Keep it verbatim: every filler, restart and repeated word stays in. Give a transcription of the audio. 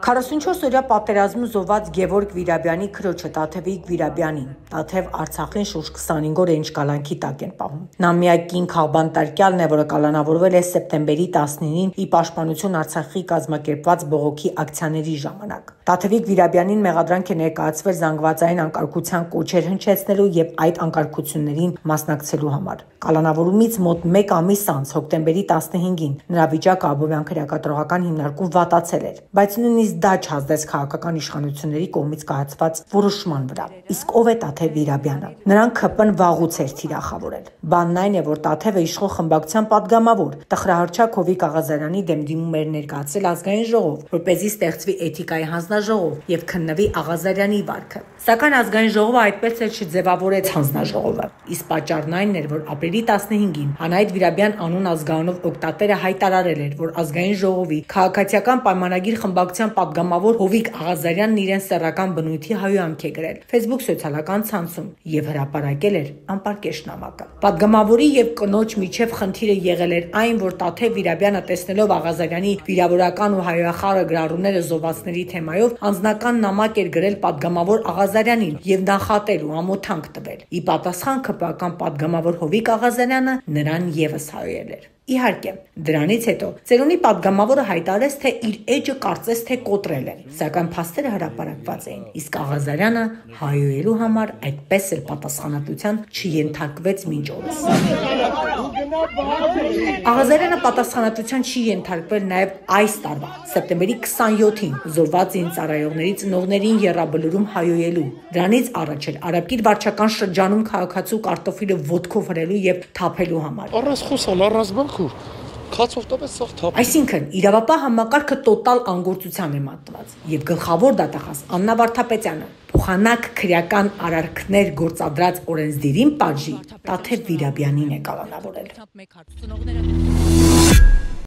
քառասունչորս օրյա պատերազմում զոհված Գևորգ Վիրաբյանի քրոջը Տաթևիկ Վիրաբյանին Տաթև Արցախին շուրջ քսանհինգ օր ինչ կալանքի տակ են պահում։ Նա միակ կին քաղբան տարկյալն է, որը կալանավորվել է սեպտեմբերի տասնինին ի պաշտպանություն Արցախի կազմակերպված բողոքի ակցիաների ժամանակ։ Տաթևիկ Վիրաբյանին մեղադրանք է ներկայացվել զանգվածային անկարգության կոչեր հնչեցնելու եւ այդ անկարգություններին մասնակցելու համար։ Կալանավորումից մոտ մեկ ամիս անց հոկտեմբերի տասնհինգին նրա վիճակը Աբովյան քրեակատրողական հիմնարկում վատացել էր, բայց նույնիսկ դա չազդեց քաղաքական իշխանությունների կողմից կայացված որոշման վրա։ Իսկ ով է Տաթև Վիրաբյանը։ Նրան ՔՊ-ն վաղուց էր թիրախավորել։ Բանն այն է, որ Տաթևը իշխող խմբակցության падգամավոր Տխրահարչակ Հովիկ Աղազարյանի դեմ դիմում էր ներկայացել ազգային ժողով, որպեսզի ստեղծվի էթիկայի հանձնաժողով եւ քննվի Աղազարյանի վարքը։ Սակայն ազգային ժողովը այդպես էլ չձևավորեց հանձնաժողովը։ Իսկ պատճառն այն էր, որ ապրիլի տասնհինգին Անահիտ Վիրաբյան անուն ազգանունով օգտատերը հայտարարել էր, որ ազգային ժողովի քաղաքացիական պայմանագիր խմբակցության падգամավոր Հովիկ Աղազարյանն իրեն սեռական բնույթի հայհոյանք է գրել Facebook սոցիալական ցանցում եւ հրապարակել էր անպարկեշտ նամակը։ Падգամավորի եւ կնոջ միջև խնդիրը եղել էր այն, որ Տաթև Վիրաբյանը տեսնելով Աղազարյանի վիրավորական ու հայոյախառը գրառումները զոհվածների թեմայով անձնական նամակ էր գրել падգամավոր Աղազարյանին եւ նախատել ու ամոթանք տվել։ Ի պատասխան ՔՊ-ական падգամավոր Հովիկ Աղազարյանը նրան եւս հայոյել էր։ Իհարկե, դրանից հետո ծերունի падգամավորը հայտարարեց, թե իր էջը կարծես թե կոտրել են, սակայն փաստերը հրապարակված էին, իսկ Աղազարյանը հայոյելու համար այդպես էլ պատասխանատվության չենթարկվեց մինչ օրս։ Աղազարյանը պատասխանատվության չի ենթարկվել նաև այս տարվա սեպտեմբերի քսանյոթին զոհված զինծառայողների ծնողներին եռաբլուրում հայոյելու։ Դրանից առաջ էլ Արաբկիր վարչական շրջանում քաղաքացու կարտոֆիլը ոտքով հրելու եւ թափելու համար։ Առանց խոսալ, առանց բանքուր, քացով տապես սաղ թափ։ Այսինքն, իրավապահ համակարգը տոտալ անգործության է մատնված, եւ գլխավոր դատախազ Աննա Վարդապետյանը փոխանակ քրեական արարքներ գործադրած օրենսդիրին պատժի Տաթև Վիրաբյանին է կալանավորել։